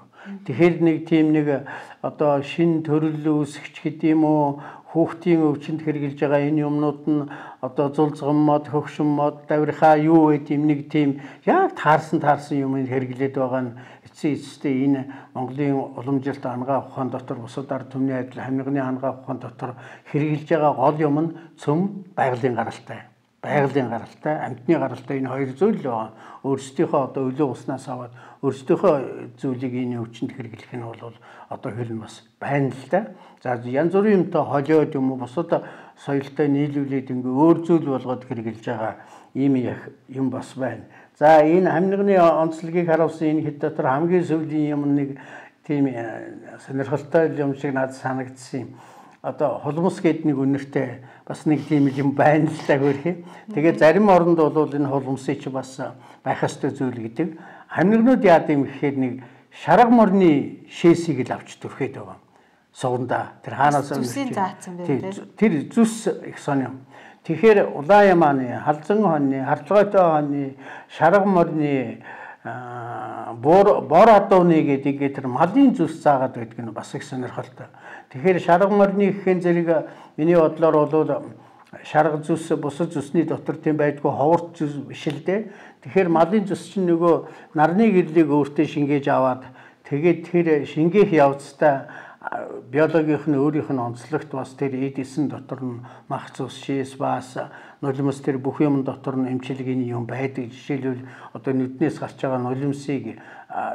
Тэгэхээр нэг тийм нэг одоо шин төрөл үүсгэж гэдэг юм уу хүүхдийн өвчнөд хэрэгжилж байгаа энэ юмнууд нь одоо зулцган мод, хөгшин мод, давирхаа юу гэдэг юм нэг тийм яг таарсан таарсан юм хэрэглээд байгаа нь эцсийн эцэстээ энэ Монголын уламжилт ангаа ухаан дотор бусад ард түмний адил хамнигны ангаа ухаан дотор хэрэгжилж байгаа гол юм нь цөм байгалийн гаралтай. Байгалийн гаралтай, амьтны гаралтай энэ хоёр зүйл л байгаа. Өөрсдийнхөө одоо өлөө уснаас аваад өөрсдийнхөө зүйлийг энэ өвчнөд хэрэглэх нь бол одоо хэл нь бас байна л да. За янз бүрийн юмтай холиод юм уу бусад соёлтой нийлүүлээд ингээ өөр зүйл болгоод хэрэгжилж байгаа ийм юм бас байна. За энэ хамнигны онцлогийг харуулсан энэ хэд дотор хамгийн сүүлийн юм нэг тийм сонирхолтой юм шиг надад санагдсан юм. Одоо хулмус гэдэг нэг үнэртэй бас нэг тийм юм байна л да хөрхий. Тэгээд зарим оронд бол энэ хулмсыг ч бас байх ёстой зүйл гэдэг. Хамнигнууд яад юм гэхээр нэг шарга морны шээсийг л авч төрхөөд байгаа. Сугандаа тэр хаанаас зүсийн заацсан байх тийм. Тэр зүс их сонио. Тэгэхээр Улаан ямааны, Халзан хоньны, Харцгойтой хоньны, шарга морны бор бор адууны гэдэг тэр малын зүс заагаад байдаг нь бас их сонирхолтой. Тэгэхээр шарга морны гэхэн зэрэг миний бодлоор бол шарга зүс бусад зүсний дотор тийм байдгүй ховорт зүс биш л дээ. Тэгэхээр малын зүс чинь нөгөө нарны гэрлийг өөртөө шингээж аваад тэгээд тэр шингээх явцдаа биологийнх нь өөрийнх нь онцлогт бас тэр эдисэн дотор нь мах цус, шээс, баас, нулимс тэр бүх юм дотор нь эмчилгээний юм байдаг. Жишээлбэл одоо нүднээс гарч байгаа нулимсыг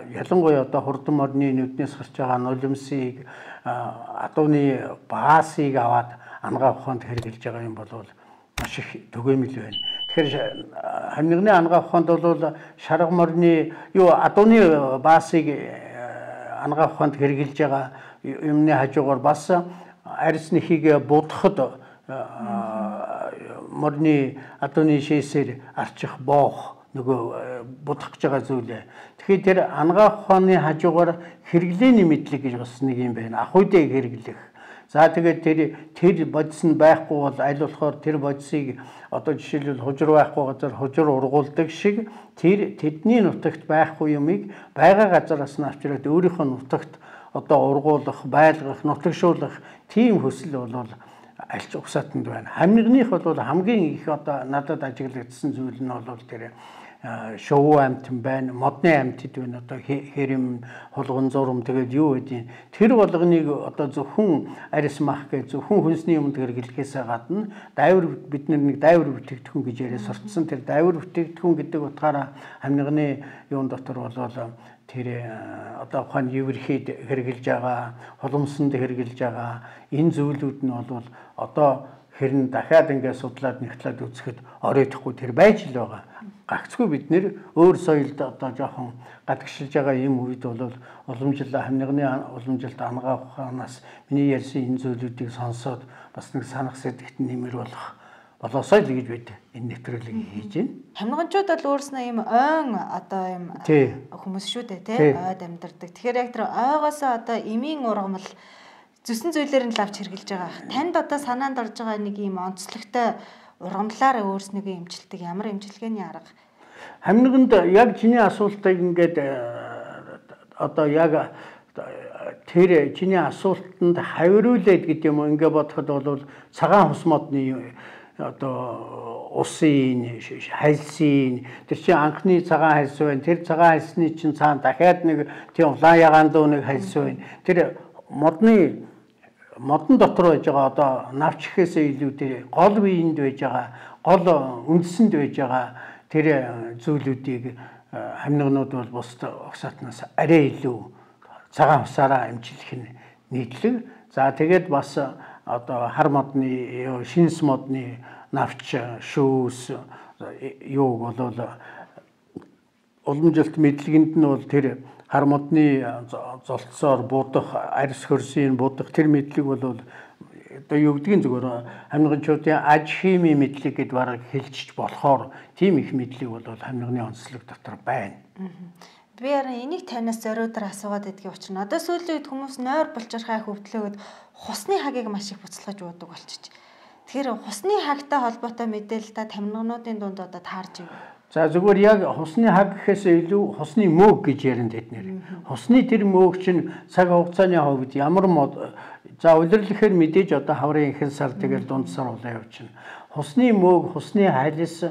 ялангуяа одоо хурдан морны нүднээс гарч байгаа нулимсыг адууны баасыг аваад ангаа ухаанд хэрэгжилж байгаа юм бол маш их түгээмэл байна. Тэгэхээр хамнигны ангаа ухаанд бол шарга морны юу адууны баасыг ангаа ухаанд хэрэгжилж байгаа юмны хажуугаар бас арьс нэхийг будахад морны адууны шээсээр арчих боох нөгөө будах гэж байгаа зүйлээ. Тэгэхээр тэр ангаа ухааны хажуугаар хэрэглээний мэдлэг гэж бас нэг юм байна. Ахуйдыг хэрэглэх. За тэгээд тэр тэр бодис нь байхгүй бол аль болохоор тэр бодисыг одоо жишээлбэл хужир байхгүй газар хужир ургуулдаг шиг тэр тэдний нутагт байхгүй юмыг байгаа газараас нь авчираад өөрийнхөө нутагт одоо ургуулах, байлгах, нутагшуулах тийм хөсөл бол альч угсаатанд байна. Хамнигных бол хамгийн их одоо надад ажиглагдсан зүйл нь бол тэр шувуу амьтан байна, модны амьтд байна. Одоо хэрэм, хулган зурм тэгээд юу гэдэг. Тэр болгоныг одоо зөвхөн арьс мах гэж зөвхөн хүнсний юмд хэрэглэхээс гадна дайвар бид нэг дайвар бүтээгдэхүүн гэж яриа суртсан. Тэр дайвар бүтээгдэхүүн гэдэг утгаараа хамнигны юун дотор бол тэр одоо ухаан евэрхийд хэрэгжилж байгаа, хулмсанд хэрэгжилж байгаа энэ зүйлүүд нь бол одоо хэрн дахиад ингээд судлаад нэгтлээд үзэхэд оройтхгүй тэр байж л байгаа. Гагцгүй бид нэр өөр соёлд одоо жоохон гадагшилж байгаа юм үед бол уламжлал хамнигны уламжлалт ангаа ухаанаас миний ярьсан энэ зүйлүүдийг сонсоод бас нэг санах сэтгэт нэмэр болох болоосой л гэж бид энэ нэвтрүүлгийг хийж байна. Хамнганчууд бол өөрснөө ийм ойн одоо ийм хүмүүс шүү дээ тий ойд амьдардаг. Тэгэхээр яг тэр ойгоосоо одоо эмийн ургамал зүсэн зүйлээр нь л авч хэрглэж байгаа. Танд одоо санаанд орж байгаа нэг ийм онцлогтой ургамлаараа өөрснийгөө эмчилдэг ямар эмчилгээний арга? Хамнаганд яг чиний асуултыг ингээд одоо яг тэр чиний асуултанд хавируулээд гэдэг юм уу ингээд бодоход бол цагаан хус модны одоо усын хальсын тэр чинь анхны цагаан хальс байна. Тэр цагаан хальсны чинь цаана дахиад нэг тийм улаан ягаан дуу нэг хальс байна. Тэр модны модон дотор байж байгаа одоо навч гэхээсээ илүү тэр гол биеинд байж байгаа гол үндсэнд байж байгаа тэр зүйлүүдийг хамнагнууд бол бусд огсаатнаас арай илүү цагаан усаараа эмчилэх нь нийтлэг. За тэгээд бас одоо хар модны шинс модны навч шүүс юу болол уламжилт мэдлэгэнд нь бол тэр хар модны золцоор будах арьс хөрсийн будах тэр мэдлэг бол одоо юу гэдгийг зүгээр хамнагчуудын аж хими мэдлэг гэдээ бараг хэлчих болохоор тийм их мэдлэг бол хамнагны онцлог дотор байна. Би яран энийг танаас зориудаар асуугаад байдгийн учир нь одоо сүүлийн үед хүмүүс нойр булчирхай хөвдлөөд хусны хагийг маш их буцалгаж уудаг болчих. Тэгэхээр хусны хагтай холбоотой мэдээлэл та тамирчнуудын дунд одоо таарч байна. За зүгээр яг хусны хаг гэхээс илүү хусны мөөг гэж ярина тэднэр. Хусны тэр мөөг чинь цаг хугацааны хувьд ямар мод за улирлэхээр мэдээж одоо хаврын ихэнх сар тэгэл дунд сар улаан явчихна. Хусны мөөг, хусны хайлс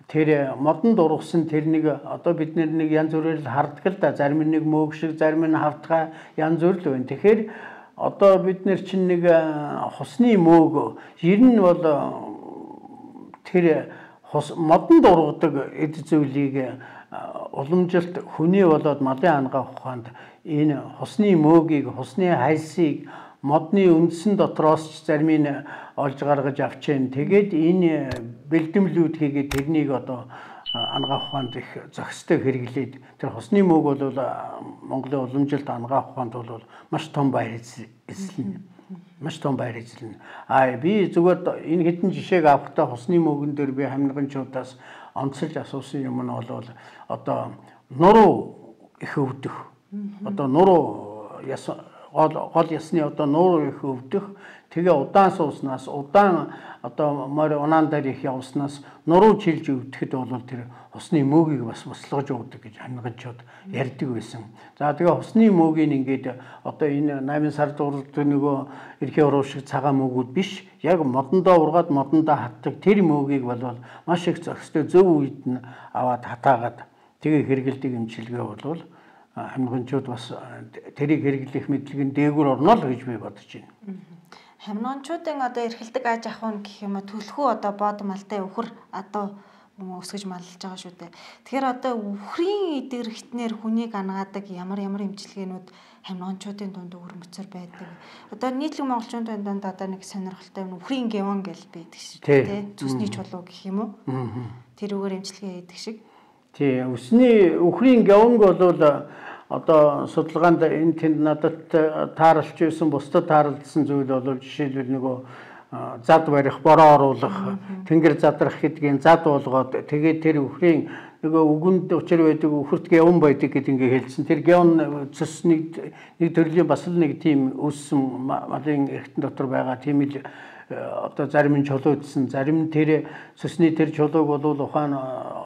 тэр модон дургасан тэр нэг одоо бид нэг янз бүрээр харддаг л да. Зарим нэг мөөг шиг, зарим нь хавтгай янз бүр л байна. Тэгэхээр одоо бид нэр чинь нэг хусны мөөг ер нь бол тэр хус модон дургадаг эд зүйлийг уламжилт хүний болоод малын ангаа ухаанд энэ хусны мөөгийг, хусны хальсыг модны үндсэн дотроос ч зарим нь олж гаргаж авчээн. Тэгээд энэ бэлдэмлүүд хийгээд тэрнийг одоо ангаа ухаанд их зохистой хэрэглээд тэр хусны мөөг бол Монголын уламжилт ангаа ухаанд бол маш том баяр эзэлнэ. Маш том баяр эзэлнэ. Аа би зүгээр энэ хэдэн жишээг авахдаа хусны мөөгөн дээр би хамнагчудаас онцолж асуусан юм нь бол одоо нуруу их өвдөх. Одоо нуруу яс гол гол ясны одоо нуруу их өвдөх. Тэгээ удаан сууснаас удаан одоо морь унаан дээр их явснаас нуруу чилж өвдөхэд бол тэр хусны мөөгийг бас буслаж уудаг гэж хамнагчуд ярьдаг байсан. За тэгээ хусны мөөгийг ингээд одоо энэ найман сар дурд нөгөө эрхийн уруу шиг цагаан мөөгүүд биш. Яг модондоо ургаад модондоо хатдаг тэр мөөгийг бол маш их зохистой зөв үед нь аваад хатаагаад тэгээ хэрэгэлдэг эмчилгээ бол хамнагчуд бас тэрийг хэрэглэх мэдлэг нь дээгүүр орно л гэж би бодож байна. Хамнагчуудын одоо эрхэлдэг аж ахуйн гэх юм төлхөө одоо бод малтай өвхөр одоо өсгөж маллаж байгаа шүү дээ. Тэгэхээр одоо өвхрийн идэрхтнэр хүнийг ангаадаг ямар ямар эмчилгээнүүд хамнагчуудын дунд өрмөцөр байдаг. Одоо нийтлэг монголчуудын дунд одоо нэг сонирхолтой өвхрийн гевон гэж байдаг шүү дээ. Зүсний чулуу гэх юм уу? Тэрүүгээр эмчилгээ хийдэг шиг. Тий, өсний өвхрийн гевонг бол одоо судалгаанд энэ тэнд надад тааралж байсан бусдад тааралдсан зүйл бол жишээлбэл нөгөө зад барих, бороо оруулах, тэнгэр задрах гэдгийг зад болгоод тэгээд тэр өвхрийн нөгөө үгэнд учир байдаг өвхөрт гевон байдаг гэдэг ингээ хэлсэн. Тэр гевон цэс нэг нэг төрлийн бас л нэг тийм өссөн малын эргэтэн дотор байгаа тийм л одоо зарим нь чулуудсан, зарим тэр цэсний тэр чулууг бол ухаан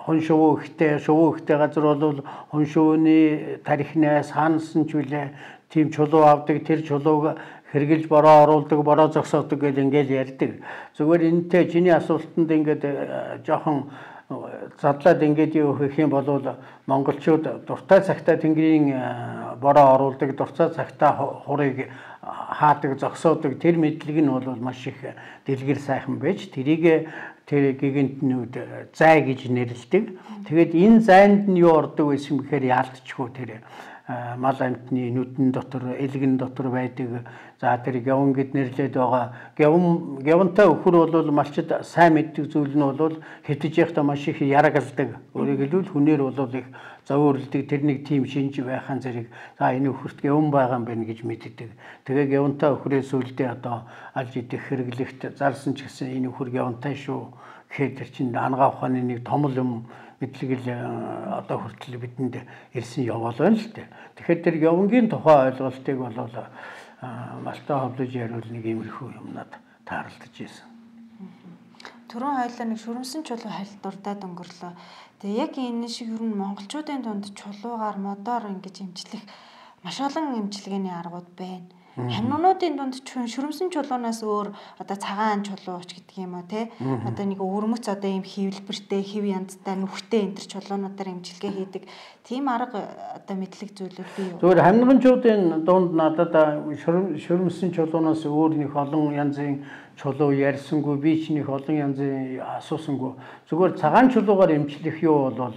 хон шувуу ихтэй, шувуу ихтэй газар бол хон шувууны тарихнаас хаансан ч үлээ тийм чулуу авдаг, тэр чулууг хэрглэж бороо оруулдаг, бороо зогсоодог гэж ингээл ярьдаг. Зүгээр энэтэй чиний асуултанд ингээд жоохон задлаад ингээд юу гэх юм бол монголчууд дуртай цагтаа тэнгэрийн бороо оруулдаг, дуртай цагтаа хурыг хаадаг, зогсоодог тэр мэдлэг нь бол маш их дэлгэр сайхан байж тэрийг тэр гигантнүүд зай гэж нэрлэдэг. Тэгээд энэ зайд нь юу ордог байсан гэхээр яалтчгүй тэр мал амтны нүдэн дотор, элгэн дотор байдаг. За тэр гявн гэд нэрлээд байгаа. Гявн гявнтай өхөр бол малчид сайн мэддэг зүйл нь бол хэвтэж явахдаа маш их ярагалдаг. Өөрөөр хэлбэл хүнээр бол их зөөвөрлөдөг тэр нэг тийм шинж байхаан зэрэг за энэ өхөрт гявн байгаа юм байна гэж мэддэг. Тэгээ гявнтай өхрөөс үлдээ одоо алж идэх хэрэглэгт зарсан ч гэсэн энэ өхөр гявнтай шүү гэхээр тэр чинь ангаа ухааны нэг том юм мэдлэг л одоо хүртэл бидэнд ирсэн яваал байна л дээ. Тэгэхээр тэр явангийн тухай ойлголтыг бол малтай ховлож яриул нэг иймэрхүү юмнад таарлаж ирсэн. Түрүүн хоёлаа нэг шүрмсэн чулуу хайлтурдаад өнгөрлөө. Тэгээ яг энэ шиг ер нь монголчуудын дунд чулуугаар модоор ингэж имжлэх маш олон имчилгээний аргууд байна. Хамнуунуудын дунд шүрмсэн чулуунаас өөр одоо цагаан чулууч гэдэг юм уу те одоо нэг өвөрмөц одоо ийм хөвлбэртэй хэв янзтай нүхтэй энэ төр чулуунуудаар имчилгээ хийдэг тийм арга одоо мэдлэг зүйлүүд бий юу? Зөвхөн хамнуунчуудын дунд надад шүрмсэн чулуунаас өөр нэг олон янзын чулуу ярьсангүй би ч нэг олон янзын асуусангүй зүгээр цагаан чулуугаар имчлэх юу бол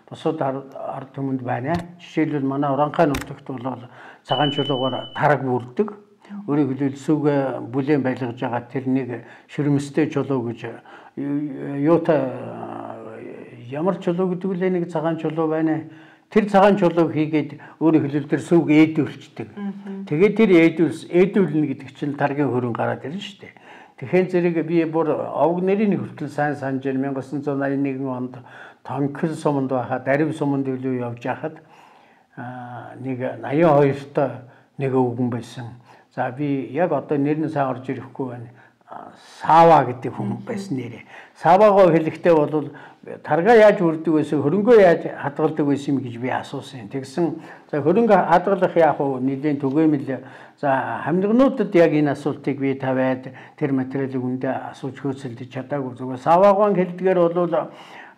босоод ард түмэнд байна. Жишээлбэл манай Уранхай нутагт бол цагаан чулуугаар тараг бүрдэг. Өөрөөр хэлбэл сүгэ бүлээн байлгаж байгаа тэр нэг шүрмэстэй чулуу гэж юутай ямар чулуу гэдэг үлээ нэг цагаан чулуу байна. Тэр цагаан чулууг хийгээд өөрөөр хэлбэл тэр сүг ээдүүлчихдэг. Тэгээд тэр ээдүүлс ээдүүлнэ гэдэг чинь таргийн хөрөнгө гараад ирнэ шүү дээ. Тэгэхээр зэрэг би бүр овг нэрийн хүртэл сайн санаж байна. 천구 восемьсот онд Тонкол суманд байхад Дарив суманд илүү явж байхад нэг восемьдесят two нэг өвгөн байсан. За би яг одоо нэр нь сайн орж ирэхгүй байна. Сава гэдэг хүн байсан нэрээ. Савагаа хэлэхдээ бол тарга яаж үрдэг байсан, хөрөнгөө яаж хадгалдаг байсан юм гэж би асуусан. Тэгсэн за хөрөнгө хадгалах яах вэ? Нэлийн түгээмэл за хамнигнуудад яг энэ асуултыг би тавиад тэр материалыг үндэ асууж хөөцөлдөж чадаагүй. Зүгээр саваагаан хэлдгээр бол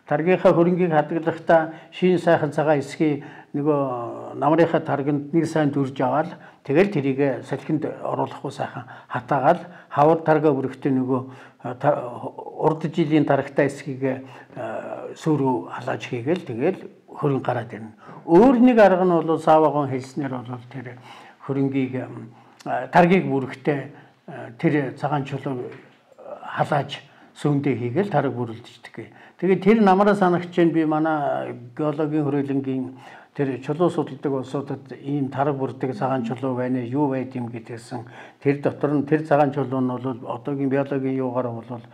таргийнхаа хөрөнгийг хадгалахдаа шин сайхан цагаан эсхий нөгөө намрынхаа тарганд нэг сайн дүрж аваад тэгэл тэрийг салхинд оруулахгүй сайхан хатаагаад хавар тарга бүрэгтэй нөгөө урд жилийн тарагтай эсхийг сүрүү халааж хийгээл тэгэл хөрөнгө гараад ирнэ. Өөр нэг арга нь бол саваагаан хэлснээр бол тэр хөрөнгийг таргийг бүрэгтэй тэр цагаан чулуу халааж сүүндээ хийгээл тараг бүрэлдэждэг. Тэгээд тэр намараа санагч чинь би манай геологийн хөрөлөнгийн тэр чулуу судалдаг улсуудад ийм тараг бүрдэг цагаан чулуу байна юу байд юм гэдгсэн. Тэр дотор нь тэр цагаан чулуу нь бол одоогийн биологийн юугаар бол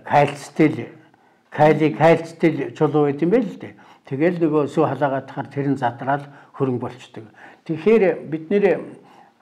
кальцтэй кали кальцтэй чулуу байд юм байл л дээ. Тэгэл нөгөө сүү халаагаатахаар тэр нь задраад хөрөнгө болчдөг. Тэгэхээр бид нэр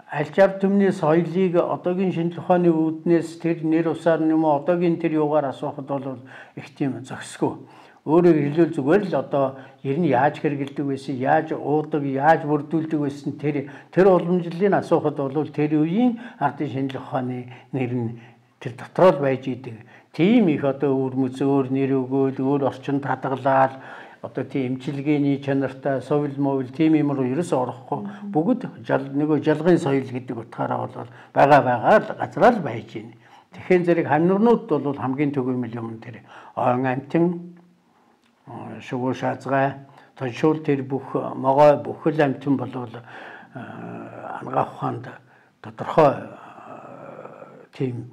альчаар төмний соёлыг одоогийн шинжлэх ухааны үүднээс тэр нэр усаар юм уу одоогийн тэр юугаар асуухад бол их тийм зохисгүй. Өөрөөр хэлбэл зүгээр л одоо ер нь яаж хэрэгэлдэг байсан, яаж уудаг, яаж бүрдүүлдэг байсан тэр тэр уламжлалыг асуухад бол тэр үеийн ардын шинжлэх ухааны нэр нь тэр дотор л байж идэг. Тийм их одоо өвөрмөц өөр нэр өгөөл, өөр орчинд хадгалаад одоо тийм эмчилгээний чанартай совил мовил тийм юм руу ерөөсөө орохгүй бүгд нөгөө жалгын соёл гэдэг утгаараа бол байгаа байгаа л газраа л байж байна. Тэгэхээр зэрэг хамнуунууд бол хамгийн түгээмэл юм тэр ойн амтэн шугуу шаазгай тоншуул тэр бүх могой бүхэл амтэн бол ангаа ухаанд тодорхой тийм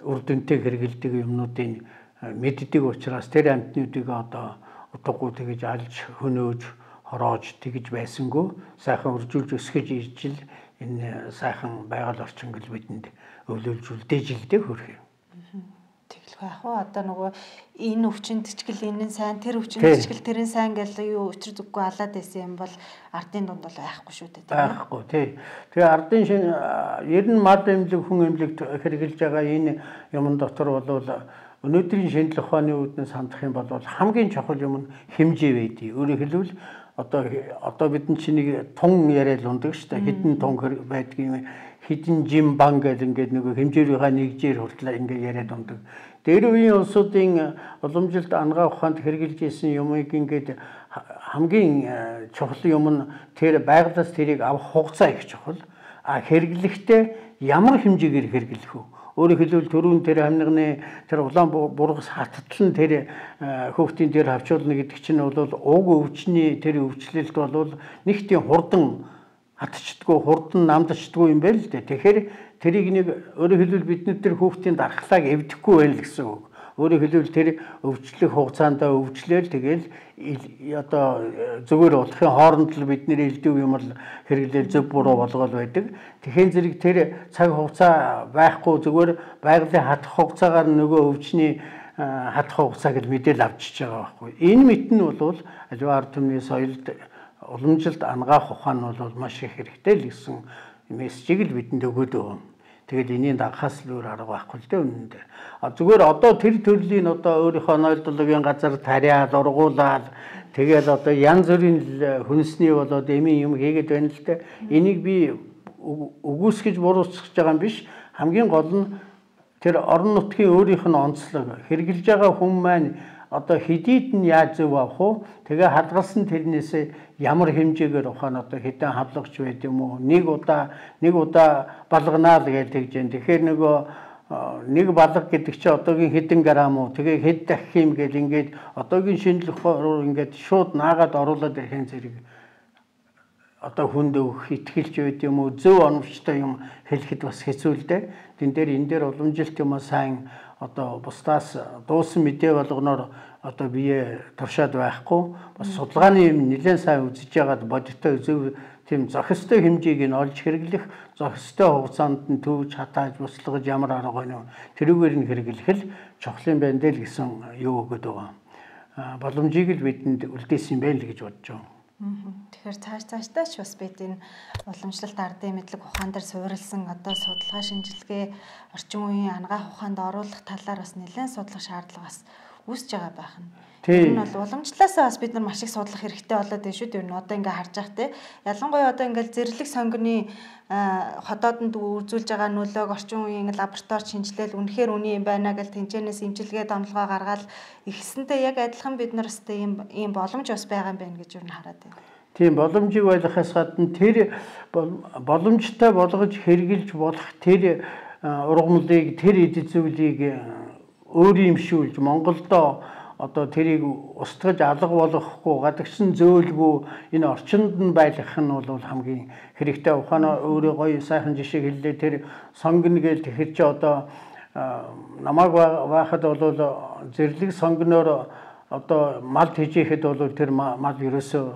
үр дүнтэй хэрэгэлдэг юмнуудын мэддэг учраас тэр амтнуудыг одоо утгагүй тэгж алж хөнөөж хороож тэгж байсангүй сайхан үржүүлж өсгөж ижил энэ сайхан байгаль орчин гэл бидэнд өвлүүлж үлдээжилдээ хөрх юм. Тэгэлгүй ах уу одоо нөгөө энэ өвчнөд ч гэл энэ нь сайн тэр өвчнөд ч гэл тэр нь сайн гэл юу өчр зүггүй алаад байсан юм бол ардын дунд бол байхгүй шүү дээ. Байхгүй тий. Тэгээ ардын шин ер нь мад эмнэлэг хүн эмнэлэгт хэрэгжилж байгаа энэ юмн дотор бол өнөөдрийн шинжлэх ухааны үүднээс хандах юм бол хамгийн чухал юм нь хэмжээ байдгийг. Өөрөөр хэлбэл одоо одоо бидний чинь нэг тун яриад ундаг шүү дээ. Хідэн тун байдгийг хідэн жим бан гэл ингээд нэг хэмжээрийнхаа нэгжээр хүртэл ингээд яриад ундаг. Дээр үеийн улсуудын уламжилт ангаа ухаанд хэрэгжилж исэн юмыг ингээд хамгийн чухал юм нь тэр байгалаас тэрийг авах хугацаа их чухал. А хэрэглэхдээ ямар хэмжээгээр хэрэглэх вэ? Өөрөөр хэлбэл төрүүн тэр хамнигны тэр улаан бургас хаттлан тэр хөөхтийн дээр хавчуулна гэдэг чинь бол уг өвчний тэр өвчлөлт бол нэг тийм хурдан хатчдаггүй хурдан намдчдаггүй юм байл л дээ. Тэгэхээр тэрийг нэг өөрөөр хэлбэл бидний тэр хөөхтийн дархлааг эвдэхгүй байл гэсэн үг. Өөрөөр хэлбэл тэр өвчлөх хугацаанд өвчлөөл тэгэл одоо зүгээр болохын хооронд л бид нэр элдв юм л хэрэглээл зөв буруу болгоод байдаг. Тэгэхээр зэрэг тэр цаг хугацаа байхгүй зүгээр байгалийн хатах хугацаагаар нөгөө өвчний хатах хугацаа гэж мэдээл авчиж байгаа байхгүй. Энэ мэт нь бол аливаа ард түмний соёлд уламжилт ангаах ухаан нь бол маш их хэрэгтэй л гэсэн мессежийг л бидэнд өгөөд байгаа. Тэгэл энэний дагахаас л өөр арга байхгүй л дээ үнэндээ. А зүгээр одоо тэр төрлийн одоо өөрийнхөө нойлдлагын газар тариад ургуулад тэгэл одоо янз бүрийн хүнсний болоод эмийн юм хийгээд байна л дээ. Энийг би үгүйсгэж буруутгах байгаа юм биш. Хамгийн гол нь тэр орон нутгийн өөрийнх нь онцлог хэрэгжилж байгаа хүн маань одоо хэдийд нь яаж зөв авах вэ? Тэгээ хадгалсан тэрнээсээ ямар хэмжээгээр ухаан одоо хэдэн хавлагч байд юм уу? Нэг удаа нэг удаа балганаа л гэж тэгж जैन. Тэгэхээр нөгөө нэг балга гэдэг чинь одоогийн хэдэн грамм уу? Тэгээ хэд дахих юм гээд ингээд одоогийн шинжлэх ухаанаар ингээд шууд наагаад оруулаад ирэхин зэрэг одоо хүнд өгөх итгэлж байд юм уу? Зөв оновчтой юм хэлэхэд бас хэцүү л дээ. Тэн дээр энэ дээр уламжилт юм аа сайн одоо бусдаас дуусан мэдээ болгоноор одоо бие туршаад байхгүй бас судалгааны юм нэлээд сайн үзэж яагаад бодиттой зөв тийм зохистой хэмжээг нь олж хэрэглэх зохистой хугацаанд нь төвж хатааж буслаж ямар арга байна вэ тэрүүгээр нь хэрэглэх л чухал юм байна дээ л гэсэн юу өгöd байгаа. Боломжийг л бидэнд үлдээсэн юм байна л гэж бодож байна. Тэгэхээр цааш цаашдаач бас бид энэ уламжлалт ардын мэдлэг ухаан дээр суурилсан одоо судалгаа шинжилгээ орчин үеийн ангаах ухаанд оруулах талаар бас нэлээд судлах шаардлага бас үүсэж байгаа байх нь. Тэр нь бол уламжлалаасаа бас бид нар маш их судлах хэрэгтэй болоод байна шүү дээ. Одоо ингээ харж байгаа те. Ялангуяа одоо ингээл зэрлэг сонгоны хотоодонд үзүүлж байгаа нөлөөг орчин үеийн лаборатори шинжилэл үнэхээр үний юм байна гэж тэнцэнээс имчилгээ домлогоо гаргаад ихсэнтэй яг адилхан бид нар өстэй ийм ийм боломж бас байгаа юм байна гэж юу н хараад байна. Тийм боломжийг ойлгохоос гадна тэр боломжтой болгож хэрэгжилж болох тэр ургамлыг тэр эд зүйлийг өөриймшүүлж Монголдо одоо тэрийг устгаж алга болгохгүй гадагшин зөөлгүй энэ орчинд нь байлгах нь бол хамгийн хэрэгтэй. Ухаанаа өөрөө гоё сайхан жишээ хэллээ. Тэр сонгоно гэж тэгэхэр чи одоо намайг байхад бол зэрлэг сонгоноор одоо мал хийжихэд бол тэр мал ерөөсөө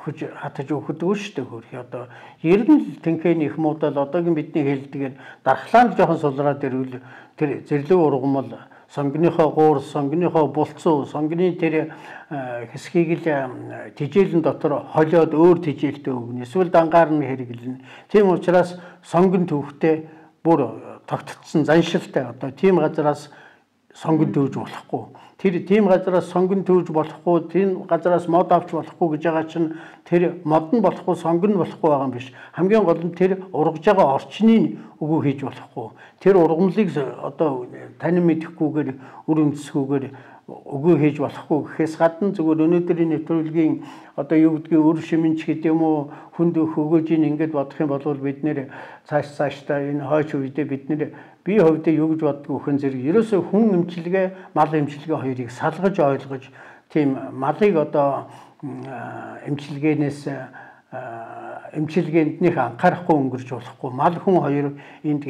өгч хатаж өгдөггүй шүү дээ хөрхи. Одоо ер нь тэнхээний их муудал одоогийн бидний хэлдгээр дархлаанд жоохон сулраад ирвэл тэр зэрлэг ургамал сонгоныхоо гуур, сонгоныхоо булцуу, сонгоны тэр хэсгийг л тижээлэн дотор холиод өөр тижээлтэй өгнө. Эсвэл дангаар нь хэрэглэнэ. Тийм учраас сонгон төвхтэй бүр тогтцсон заншилтай. Одоо тийм газараас сонгон төвж болохгүй. Тэр тийм газараас сонгон төвж болохгүй, тийм газараас мод авч болохгүй гэж байгаа чинь тэр мод нь болохгүй, сонгон нь болохгүй байгаа юм биш. Хамгийн гол нь тэр ургаж байгаа орчныг өгөө хийж болохгүй. Тэр ургамлыг одоо танин мэдэхгүйгээр үр үндэсгүйгээр өгөө хийж болохгүй гэхээс гадна зүгээр өнөөдрийн нэвтрүүлгийн одоо юу гэдгийг өр шимэнч гэдэг юм уу хүнд өгөөжийн ингэж бодох юм бол бид нэр цааш цаашдаа энэ хойч үедээ бид нэр би хувьдаа юу гэж боддог вөхөн зэрэг ерөөсөө хүн эмчилгээ мал эмчилгээ хоёрыг салгаж ойлгож тийм малыг одоо эмчилгээнээс эмчилгээнд нэх анхаарахгүй өнгөрч болохгүй. Мал хүн хоёр энд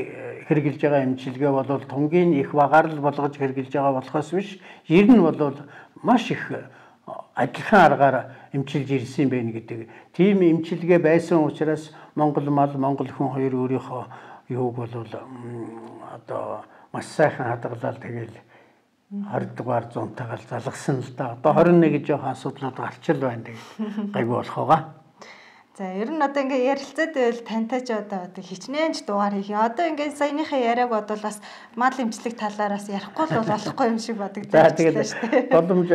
хэрэгжилж байгаа эмчилгээ бол тунгийн их багаар л болгож хэрэгжилж байгаа болохоос биш. Ер нь бол маш их адилхан аргаар эмчилж ирсэн байх гэдэг. Тийм эмчилгээ байсан учраас Монгол мал, Монгол хүн хоёр өөрийнхөө юуг бол одоо маш сайхан хадгалаад тэгэл хорд дугаар зунтайгаар залгасан л да. Одоо хорин нэг жоохон асуудлууд гарчил байна тэгээд гайгүй болох байгаа. За ер нь одоо ингээ ярилцаад байвал тантай ч одоо хичнээн ч дугаар хийх. Одоо ингээ саяныхаа яриаг бодвол бас мал эмчлэг талаараас ярихгүй л болохгүй юм шиг бодогдож байна шүү дээ. Боломж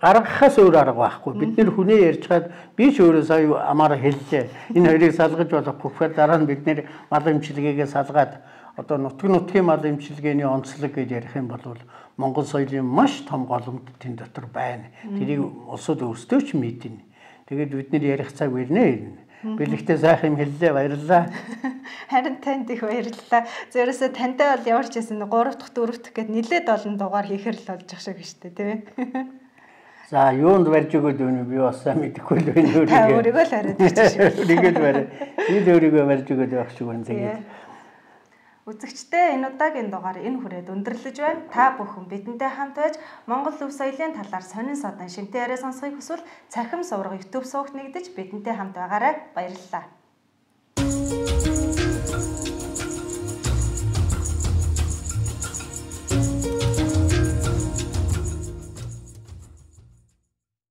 гаргахаас өөр арга байхгүй. Бид нэр хүнээ ярьж хаад би ч өөрөө сая амаараа хэллээ. Энэ хоёрыг салгаж болохгүй гэхээр дараа нь бид нэр мал эмчилгээгээ салгаад одоо нутаг нутгийн мал эмчилгээний онцлог гэж ярих юм бол Монгол соёлын маш том голомт тэн дотор байна. Тэрийг улсууд өөрсдөө ч мэднэ. Тэгээд бид нэр ярих цаг ирнэ. Бэлэгтэй сайхан юм хэллээ, баярлалаа. Харин танд их баярлалаа. Зөрөөсө тантай бол ямар ч байсан гурав дахь дөрөв дахь гэд нэлээд олон дугаар хийхэр л болж ах шиг шүү дээ, тийм ээ. За, юунд барьж өгөөд өнө би бас сайн мэдэхгүй л байна өөрийгөө. Та өөрийгөө л хариад өгч. Өөрийгөө л барь. Би л өөрийгөө барьж өгөөд байх шиг байна тэгээд. Үзэгчдээ энэ удаагийн дугаар энэ хүрээд өндөрлөж байна. Та бүхэн бидэнтэй хамт байж Монгол өв соёлын талаар сонин садан шимтэн яриа сонсохыг хүсвэл Цахим сувраг YouTube суугт нэгдэж бидэнтэй хамт байгаарай. Баярлалаа.